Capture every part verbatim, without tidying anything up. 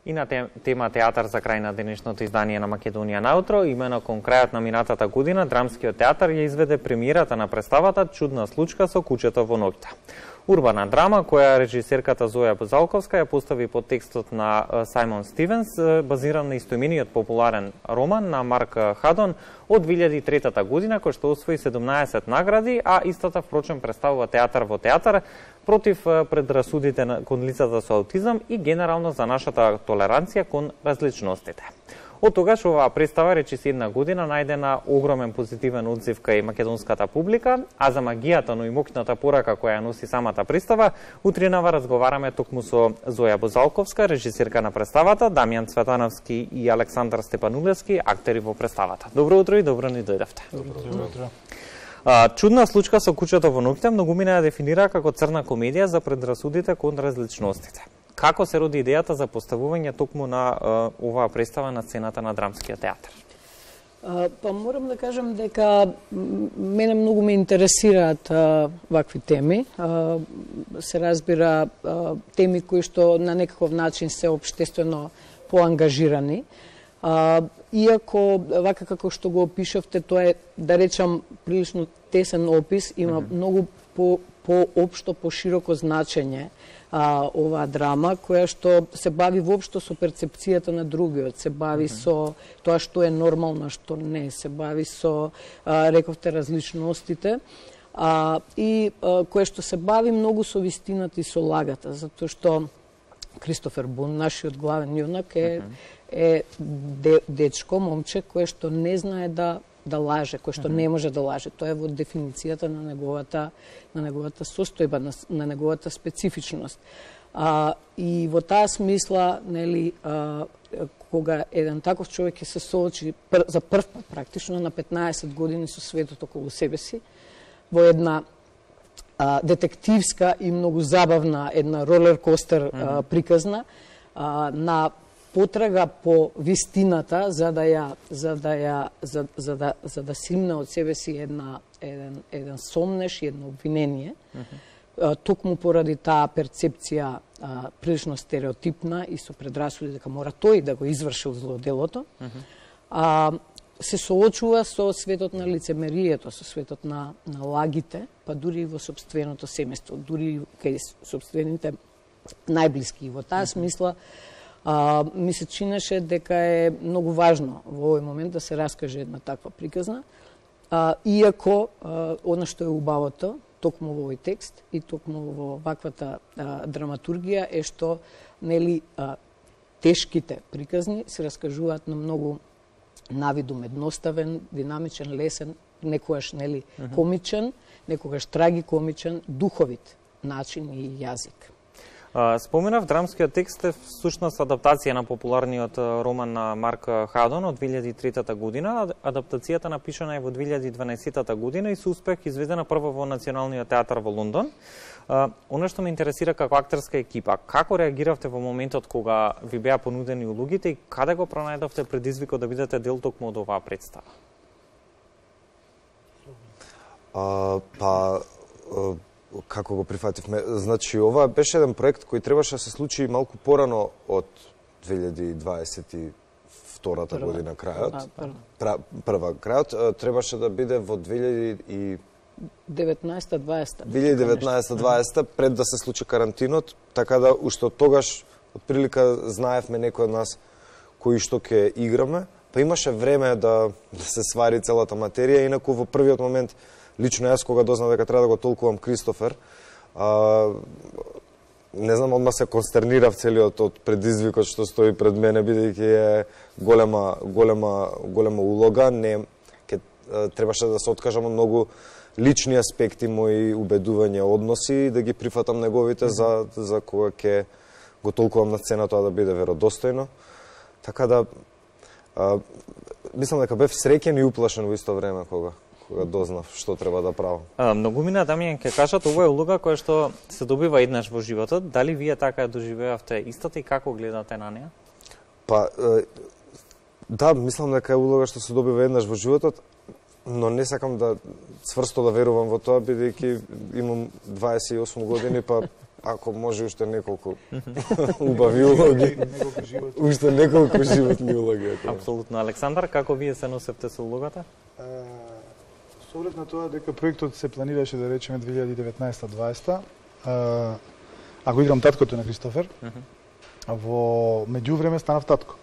И на тема театар за крај на денешното издание на Македонија наутро, имено кон крајот на минатата година, Драмскиот театар ја изведе премиерата на представата Чудна случка со куќето во ноќта. Урбана драма, која режисерката Зоја Бозалковска ја постави под текстот на Сајмон Стивенс, базиран на истоимениот популарен роман на Марк Хадон од две илјади и трета година, кој што освои седумнаесет награди, а истата впрочем представува театар во театар против предрасудите кон лицата со аутизам и генерално за нашата толеранција кон различностите. Од тогаш оваа представа речиси една година најдена огромен позитивен одзив кај македонската публика, а за магијата, но и моќната порака која ја носи самата представа, утринава разговараме токму со Зоја Бозалковска, режисерка на представата, Дамјан Цветановски и Александар Степанулевски, актери во представата. Добро утро и добро ни дојдовте. Добро утро. Чудна случка со куќето во ноќта многумина ја дефинира како црна комедија за предрасудите кон различностите. Како се роди идејата за поставување токму на а, оваа представа на сцената на Драмскиот театар? А, па морам да кажам дека мене многу ме интересираат а, вакви теми. А, се разбира а, теми кои што на некаков начин се општествено поангажирани. А, иако, вака како што го опишавте, тоа е, да речам, прилично тесен опис, има mm -hmm. многу по, по-општо, по-широко значење а, оваа драма, која што се бави воопшто со перцепцијата на другиот, се бави mm -hmm. со тоа што е нормално, што не, се бави со, а, рековте, различностите, а, и а, кое што се бави многу со вистината и со лагата, затоа што Кристофер Бун, нашиот главен јунак, е, е де, дечко, момче, кое што не знае да да лаже, кој што не може да лаже. Тоа е во дефиницијата на неговата на неговата состојба, на, на неговата специфичност. А, и во таа смисла, нели, а, кога еден таков човек ќе се соочи пр, за прв пат практично на петнаесет години со светот околу себе си, во една а, детективска и многу забавна, една ролер-костер mm -hmm. приказна, а, на потрага по вистината за да ја за да ја за, за да за да симне од себе си една еден еден сомнеш и едно обвинение. Mm -hmm. Токму поради таа перцепција а, прилично стереотипна и со предрасуди дека мора тој да го извршил злоделото. Mm -hmm. А се соочува со светот на лицемерието, со светот на на лагите, па дури и во сопственото семејство, дури кај сопствените најблиски. И во таа mm -hmm. смисла А, ми се чинеше дека е многу важно во овој момент да се раскаже една таква приказна, а, иако а, она што е убавото, токму во овој текст и токму во ваквата а, драматургија е што, нели, а, тешките приказни се раскажуваат на многу навидум едноставен, динамичен, лесен, некогаш, нели, комичен, некогаш трагикомичен, духовит начин и јазик. Споменав, драмскиот текст е всушност адаптација на популарниот роман на Марк Хадон од две илјади и трета година. Адаптацијата напишана е во две илјади и дванаесета година и со успех изведена прво во Националниот театар во Лондон. Оно што ме интересира како актерска екипа, како реагиравте во моментот кога ви беа понудени улогите и каде го пронајдовте предизвикот да бидете дел токму од оваа представа? А, па... А... Како го прифативме? Значи, ова беше еден проект кој требаше да се случи малку порано од две илјади и дваесет и втората прва година крајот. А, прва. прва крајот требаше да биде во две илјади и деветнаесета дваесета. две илјади и деветнаесета дваесета пред да се случи карантинот, така да уште од тогаш отприлика знаевме некој од нас кои што ќе играме, па имаше време да, да се свари целата материја, инаку во првиот момент лично јас кога дознав дека треба да го толкувам Кристофер, а, не знам, одма се констернирав целиот од предизвикот што стои пред мене, бидејќи е голема голема голема улога, не ке требаше да се откажам од многу лични аспекти, мои убедувања, односи, да ги прифатам неговите mm -hmm. за за кога ќе го толкувам на сцена, тоа да биде веродостојно. Така да а, мислам дека бев среќен и уплашен во исто време кога кога дознав што треба да правам. А, многумина, Дамјан, ќе кажат, ова е улога која што се добива еднаш во животот. Дали вие така ја доживеавте истата и како гледате на неа? Па, е, да, мислам дека е улога што се добива еднаш во животот, но не сакам да цврсто да верувам во тоа, бидејќи имам дваесет и осум години, па ако може уште неколку убави улоги. Уште неколку животни улоги. Апсолутно. Александар, како вие се носевте со улогата? Со оглед на тоа дека проектот се планираше да речеме две илјади и деветнаесета дваесета, ако играм таткото на Кристофер, во меѓувреме станав татко.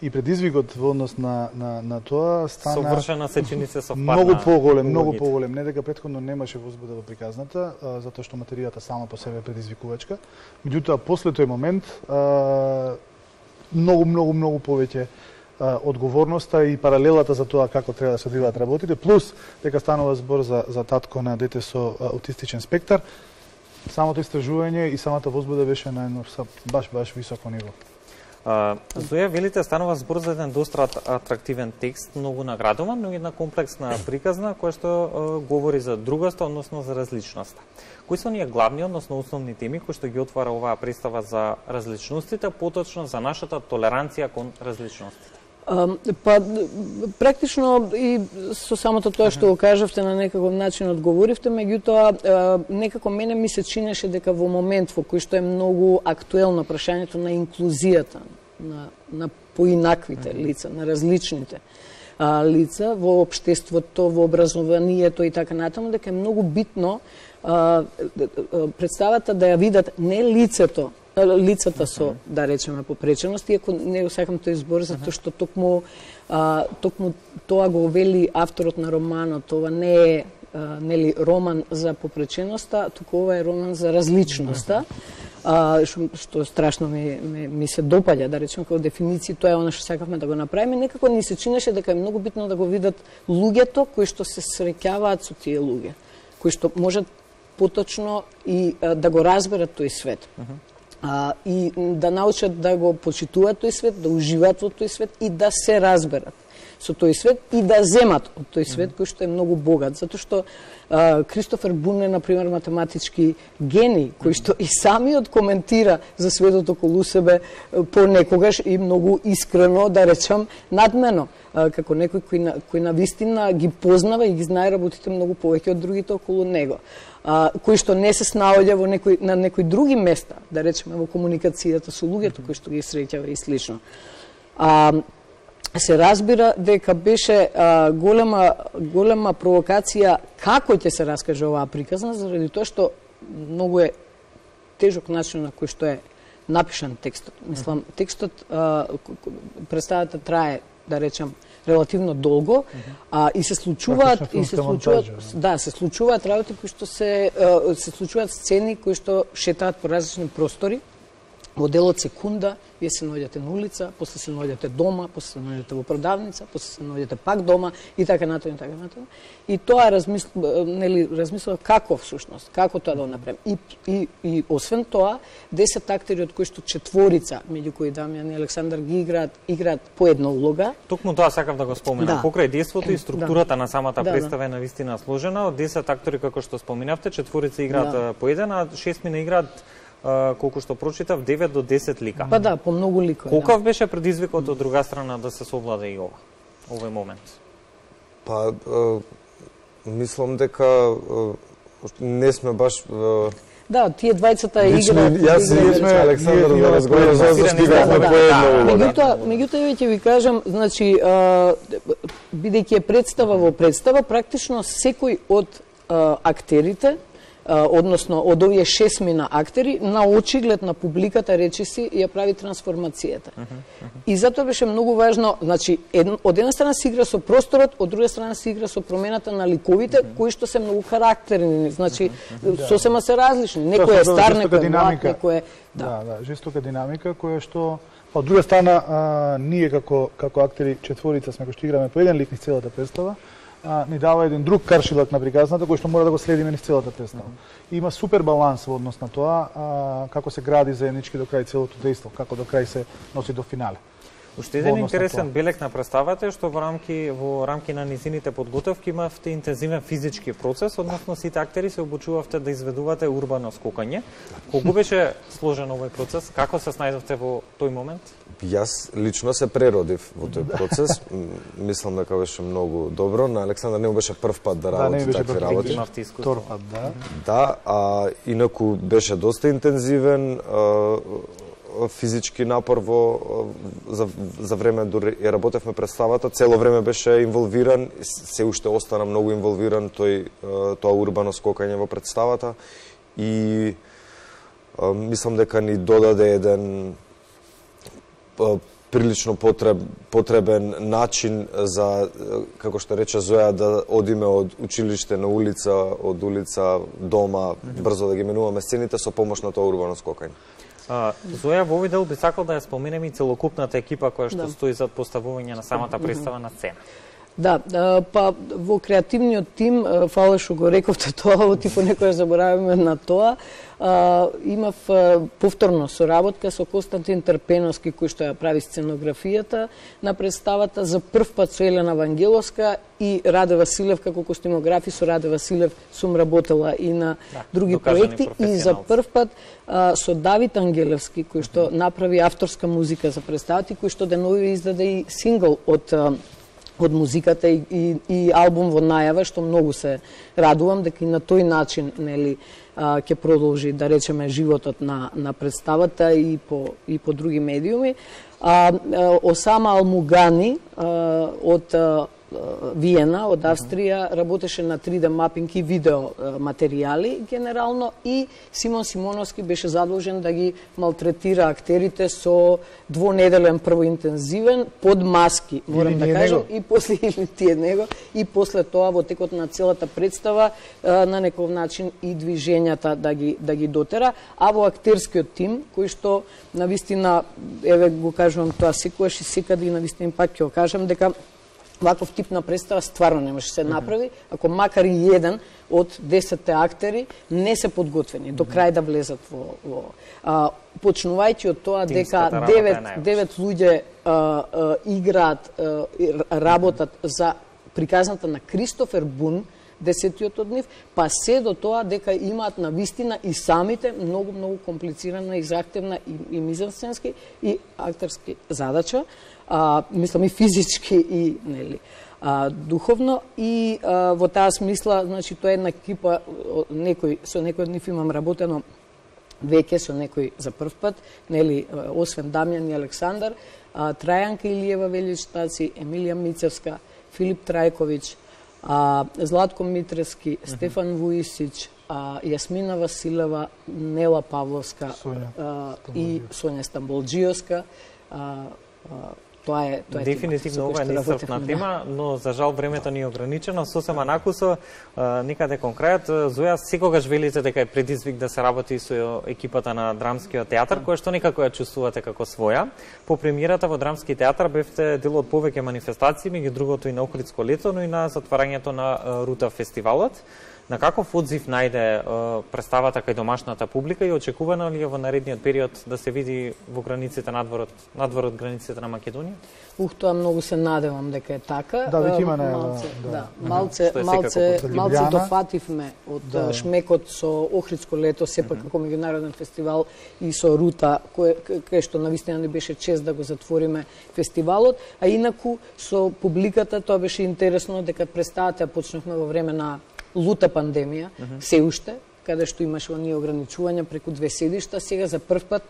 И предизвикот во однос на, на, на тоа стана совршена се чини се совпадна. Многу поголем, многу поголем. Не дека претходно немаше возбуда во приказната, а, затоа што материјата сама по себе е предизвикувачка. Меѓутоа, после тој момент, а, многу, многу, многу повеќе а, одговорноста и паралелата за тоа како треба да се одвиваат работите, плюс дека станува збор за, за татко на дете со а, аутистичен спектар, самото истражување и самата возбуда беше на едно баш, баш високо ниво. Uh, Зоја, велите, станува збор за еден доста атрактивен текст, многу наградуван, но една комплексна приказна која што uh, говори за другоста, односно за различноста. Кои се оние главни, односно основни теми кои што ги отвара оваа представа за различностите, поточно за нашата толеранција кон различностите? Uh, па, практично и со самото тоа што го кажавте на некаков начин одговоривте, меѓутоа uh, некако мене ми се чинеше дека во момент во кој што е многу актуелно прашањето на инклузијата, на, на поинаквите лица, на различните uh, лица во општеството, во образованието и така натаму, дека е многу битно uh, представата да ја видат не лицето, лицата со, да речеме, попреченост, иако не го сакам тој збор, затоа што токму, а, токму тоа го вели авторот на романот, ова не е а, нели роман за попреченоста, туку ова е роман за различноста, а, што, што страшно ми, ми, ми се допаѓа, да речеме, како дефиниција, тоа е она што сакавме да го направиме, некако ни се чинеше дека е многу битно да го видат луѓето кои што се среќаваат со тие луѓе, кои што можат поточно и а, да го разберат тој свет. А, и да научат да го почитуваат тој свет, да уживаат во тој свет и да се разберат со тој свет и да земат од тој свет кој што е многу богат, затоа што а, Кристофер Бун е, например, математички гений, кој што и самиот коментира за светот околу себе понекогаш и многу искрено, да речам, надмено, а, како некој кој на, кој на вистина ги познава и ги знае работите многу повеќе од другите околу него. А, кој што не се снаоѓа во некој, на некои други места, да речеме во комуникацијата со луѓето кои што ги среќава и слично. А, се разбира дека беше а, голема, голема провокација како ќе се раскаже оваа приказна, заради тоа што многу е тежок начин на кој што е напишан текстот. Мислам, текстот, а, представата трае, да речем, релативно долго, а и се случуваат и се случуваат да, се случуваат работи кои што се се случуваат сцени кои што шетаат по различни простори. Во делот секунда вие се наоѓате на улица, после се наоѓате дома, после се наоѓате во продавница, после се наоѓате пак дома и така натаму и така натаму. И тоа размис... нели размислува како всушност, како тоа да го направим. И и и освен тоа, десет актери од кои што четворица, меѓу кои Дамјан и Александар ги играат, играат по една улога. Токму тоа сакав да го споменам. Да. Покрај действото и структурата да. на самата да, представа да. е навистина сложена. Од десет актери, како што споменавте, четворица играат да. по еден, а шестмина играат колку што прочитав, девет до десет лика. Па да, по многу ликови. Колкав да. беше предизвикот од друга страна да се совлада и ова, овој момент? Па, е, мислам дека е, не сме баш... Е, да, тие двајцата играат. Јас и сме Александар да разговараме за што стигавме по една улога. Меѓутоа, меѓутоа ќе ви кажам, значи, бидејќи е представа во представа, практично секој од а, актерите, односно од овие шестмина актери, на очиглед на публиката речиси ја прави трансформацијата. Uh -huh, uh -huh. И затоа беше многу важно, значи, ед, од една страна се игра со просторот, од друга страна се игра со промената на ликовите, uh -huh. кои што се многу карактерни, значи, uh -huh. сосема се различни. Некој е стар, некој е млад, некој е... Да, да, да, жестока динамика, која што... Од друга страна, а, ние како, како актери четворица сме кои што играме по еден лик низ целата представа, А, ни дава еден друг каршилак на приказната кој што мора да го следиме низ целата представа. Mm -hmm. Има супер баланс во однос на тоа, а, како се гради заеднички до крај целото дејство, како до крај се носи до финале. Уште еден интересен белег на представата е што во рамки во рамки на низините подготовки имавте интензивен физички процес, односно сите актери се обучувавте да изведувате урбано скокање. Колку беше сложен овој процес? Како се снајдовте во тој момент? Јас лично се преродив во тој процес. Мислам дека беше многу добро. На Александар не му беше прв пат да работи да, такви работи. Имавте искуство. Пат, да. Да, а инаку беше доста интензивен а, физички напор во за за време дури ја работевме представата, цело време беше инволвиран, се уште остана многу инволвиран тој тоа урбано скокање во представата и а, мислам дека ни додаде еден а, прилично потреб, потребен начин за, како што рече Зоја, да одиме од училиште на улица, од улица дома, брзо да ги менуваме сцените со помош на тоа урбано скокање. А, Зоја, во овој дел би сакал да ја споменеме и целокупната екипа која што да. стои зад поставување на самата представа на сцена. Да, па во креативниот тим, фала што го рековте тоа, типо некоја забораваме на тоа, а, имав повторно соработка со Константин Трпеновски, кој што ја прави сценографијата на представата, за прв пат со Елена Вангеловска и Раде Василев како костимографи. Со Раде Василев сум работела и на да, други проекти и за прв пат а, со Давид Ангелевски, кој што направи авторска музика за представата, кој што денови издаде и сингл од од музиката и, и, и албум во најава, што многу се радувам дека и на тој начин, нели, ќе продолжи, да речеме, животот на на представата и по и по други медиуми. А, Осама Алмугани а, од а, Виена, од Австрија, работеше на три де мапинг и видео материјали генерално, и Симон Симоновски беше задолжен да ги малтретира актерите со двонеделен прво интензивен под маски, морам или да кажам, него. И после или тие него, и после тоа во текот на целата представа на некој начин и движењата да ги да ги дотера, а во актерскиот тим кој што навистина, еве го кажувам тоа секогаш и секаде и навистина пак ќе го кажам дека ваков тип на представа стварно не може се направи ако макар и еден од десетте актери не се подготвени до крај да влезат во, во а, почнувајќи од тоа дека девет луѓе а, а, играат, а, работат за приказната на Кристофер Бун, десетиот од нив, па се до тоа дека имаат на вистина и самите многу многу комплицирана и захтевна и, и мизансценски и актерски задача, а, мислам и физички и нели а, духовно, и а, во таа смисла, значи тоа е една екипа, некој со некој од нив имам работено веќе, со некој за прв пат, нели, освен Дамјан и Александар, а, Трајанка Илиева Величтаци, Емилија Мицевска, Филип Трајковиќ, А, Златко Митревски, uh-huh. Стефан Вуисич, а, Јасмина Василева, Нела Павловска а, и Сонја Стамболџиевска. А, а, тоа е тоа е дефинитивно ова е неисцрпна тема, но за жал времето ни е ограничено. Сосема накусо, никаде кон крајот, Зоја, секогаш велите дека е предизвик да се работи со екипата на Драмскиот театар, која што некако ја чувствувате како своја. По премиерата во Драмски театар бевте дел од повеќе манифестации, меѓу другото и на Охридско лето, но и на затварањето на Рута фестивалот. На каков одзив најде представата кај домашната публика и очекувано ли е во наредниот период да се види во границите надвор од надвор од границите на Македонија? Ух, тоа многу се надевам дека е така. Да, веќе има малце, да. да, малце, малце, малце дофативме од да. шмекот со Охридско лето, сепак како меѓународен фестивал, и со Рута, кој кај што навистина ни беше чест да го затвориме фестивалот, а инаку со публиката тоа беше интересно дека представата почнавме во време на лута пандемија, uh -huh. се уште, каде што имаше оние ограничувања преку две седишта, сега за прв пат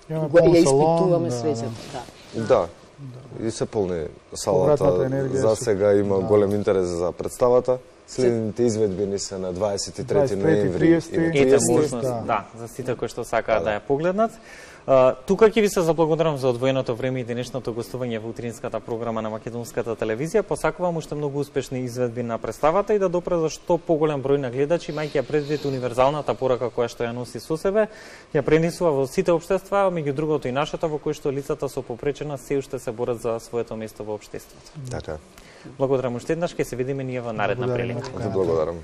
го ја испитуваме да, свеќето. Да. Да. да. И се полни салата. За сега има да. голем интерес за представата. Следните изведби ни се на дваесет и трети ноември и ете можност, да. да, за сите кои што сакаат да, да ја погледнат. Uh, тука ќе ви се заблагодарам за одвоеното време и денешното гостување во утринската програма на Македонската телевизија. Посакувам уште многу успешни изведби на представата и да допре за што поголем број на гледачи, мајќи ја предвид универзалната порака која што ја носи со себе, ја пренесува во сите општества, меѓу другото и нашата, во кој што лицата со попречена се уште се борат за своето место во општеството. Така. Благодарам уште еднаш, ќе се видиме ние во наредна прилика. Благодарам.